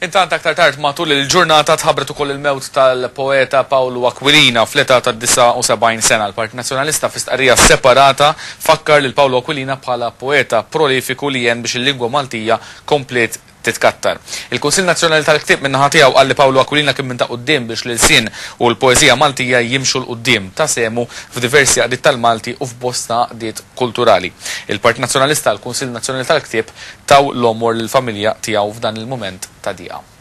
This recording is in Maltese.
Intant aktar tard matul il-ġurnata tħabbret ukoll il-mewt tal-poeta Pawlu Aquilina fl-età ta' 79 sena. Il-Partit Nazzjonalista fi stqarrija separata fakkar lil Pawlu Aquilina bħala poeta prolifiku li għen biex il-lingwa Maltija kompliet titkattar. Il-Kunsill Nazzjonali tal-Ktieb min-naħa tiegħu qal li Pawlu Aquilina kien minn ta' quddiem biex l-ilsien u l-poeżija Maltija jimxu 'l quddiem. Ta sehmu f'diversi għaqdiet tal-Malti u f'bosta għaqdiet kulturali. Il-Partit Nazzjonalista, l-Kunsill Nazzjonali tal-Ktieb taw l-għomor lill-familja tiegħu f'dan il-mument ta' dieqa.